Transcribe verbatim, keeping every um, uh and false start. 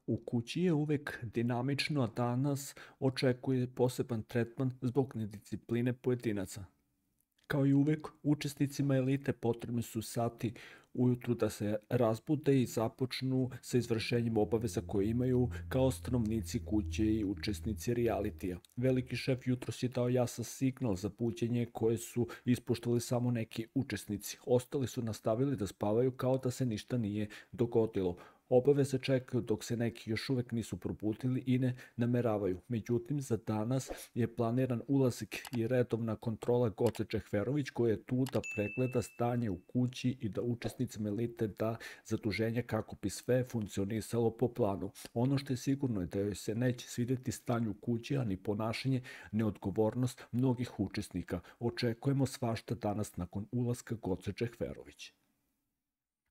U kući je uvek dinamično, a danas očekuje poseban tretman zbog nediscipline pojedinaca. Kao i uvek, učesnicima elite potrebni su sati ujutru da se razbude i započnu sa izvršenjem obaveza koje imaju kao stanovnici kuće i učesnici realitija. Veliki šef jutros je dao jasan signal za buđenje koje su ispuštali samo neki učesnici. Ostali su nastavili da spavaju kao da se ništa nije dogodilo. Obaveze čekaju dok se neki još uvek nisu probudili i ne nameravaju. Međutim, za danas je planiran ulazak i redovna kontrola Goce Džehverović koja je tu da pregleda stanje u kući i da učesnicima elite da zaduženja kako bi sve funkcionisalo po planu. Ono što je sigurno je da joj se neće svideti stanje u kući, a ni ponašanje, neodgovornost mnogih učesnika. Očekujemo svašta danas nakon ulaska Goce Džehverović.